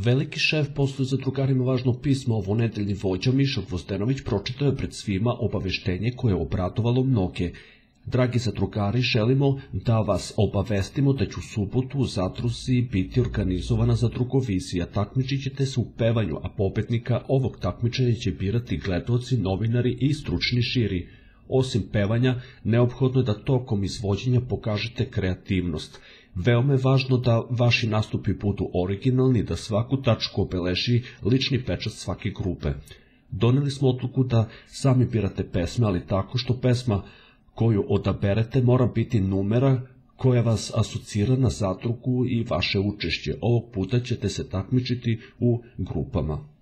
Veliki šef posluje zadrugarima važno pismo, ovonedeljni vođa Miša Gvozdenović pročitao je pred svima obaveštenje koje je obradovalo mnoge. Dragi zadrugari, želimo da vas obavestimo da će u subotu u zadruzi biti organizovana zadrugovizija. Takmičit ćete se u pevanju, a pobednika ovog takmičenja će birati gledaoci, novinari i stručni žiri. Osim pevanja, neophodno je da tokom izvođenja pokažete kreativnost. Veoma je važno da vaši nastupi budu originalni, da svaku tačku obeleži lični pečat svake grupe. Doneli smo odluku da sami birate pesme, ali tako što pesma koju odaberete mora biti numera koja vas asocira na zadrugu i vaše učešće. Ovog puta ćete se takmičiti u grupama.